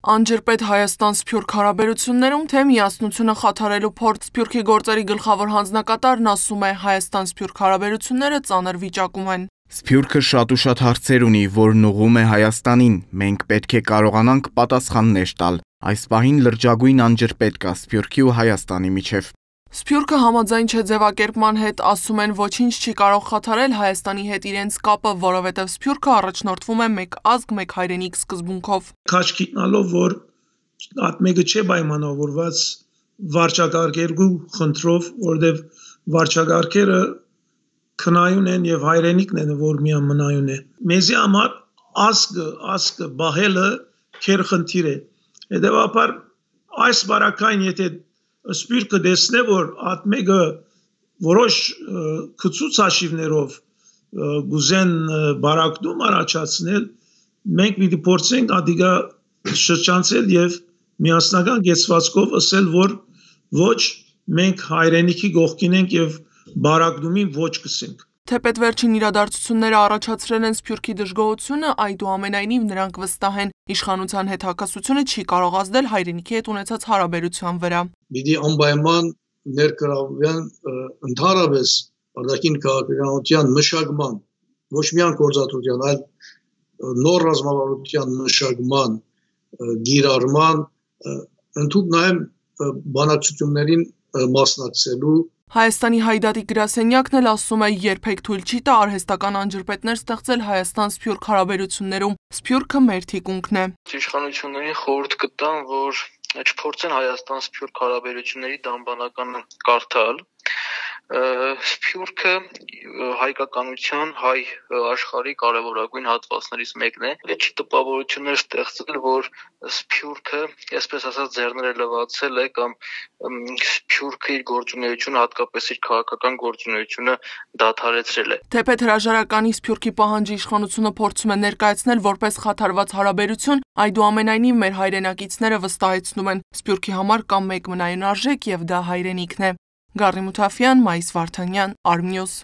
Անջրպետ Հայաստան-Սփյուռք հարաբերություններում թե միասնությունը խաթարելու փորձ Սփյուռքի գործերի գլխավոր հանձնակատարն ասում է Հայաստան-Սփյուռք հարաբերությունները ծանր վիճակում են։ Սփյուռքը շատ ու շատ հարցեր ունի, որն ուղղում է Հայաստանին, մենք պետք է կարողանանք պատասխաններ տալ։ Այս պահին լրջագույն անջրպետ կա Սփյուռքի ու Հայաստանի միջև։ Սփյուռքը համաձայն չէ ձևակերպման հետ, ասում են ոչինչ չի կարող խաթարել Հայաստանի հետ իրենց կապը, որովհետև Սփյուռքը առաջնորդվում է մեկ ազգ, մեկ հայրենիք սկզբունքով։ Քաչ գիտնալով, որ ատմեգը չէ պայմանավորված վարչակարգերու խնդրով, որովհետև վարչակարգերը քնայուն են եւ հայրենիքն են, որ միան մնայուն է։ Մեզի համար ազգը բահելը քեր խնդիր է։ Հետևաբար այս բարակային եթե Սփյուռքը դեսնե, որ ատմեգը որոշ քծուցաշիվներով գուզեն բարակդում առաջացնել, մենք պիտի փորձենք ադիգա շրջանցել եւ միասնական գեցվածքով ասել, որ ոչ մենք հայրենիքի գողքին ենք եւ բարակդումին ոչ կսենք։ Թեպետ վերջին իրադարձությունները առաջացրել են Սփյուռքի դժգոհությունը, այդուամենայնիվ նրանք վստահ են, իշխանության հետ հակասությունը չի կարող ազդել հայրենիքի հետ ունեցած հարաբերության վրա։ Պիտի անպայման ներգրավվեն ընդհանրապես արտաքին քաղաքականության մշակման, ոչ միայն գործադրության, այլ նոր ռազմավարության մշակման, գիրառման, ընդհանուր նաև բանակցություններին մասնակցելու։ Հայաստանի Հայդատի գրասենյակն էլ ասում է, երբեք թույլ չի տա արհեստական անջրպետներ ստեղծել Հայաստան-Սփյուռք հարաբերություններում։ Սփյուռքը մեր թիկունքն է։ Իշխանություններին խորհուրդ կտամ, որ չփորձեն Հայաստան-Սփյուռք հարաբերությունների դամբանականը կարդալ։ Սփյուռքը հայկականության, հայ աշխարհի կարևորագույն հատվածներից մեկն է։ Չի տպավորություններ ստեղծել, որ Սփյուռքը, այսպես ասած, ձեռները լվացել է կամ Սփյուռքը իր գործունեությունը, հատկապես իր քաղաքական գործունեությունը դադարեցրել է։ Թեպետ հրաժարականի Սփյուռքի պահանջի իշխանությունը փորձում է ներկայացնել որպես խաթարված հարաբերություն, այդուամենայնիվ մեր հայրենակիցները վստահեցնում են, Սփյուռքի համար կա մեկ մնայուն արժեք եւ դա հայրենիքն է։ Գառնի Մութաֆյան, Մայիս Վարդանյան, Արմնյուզ։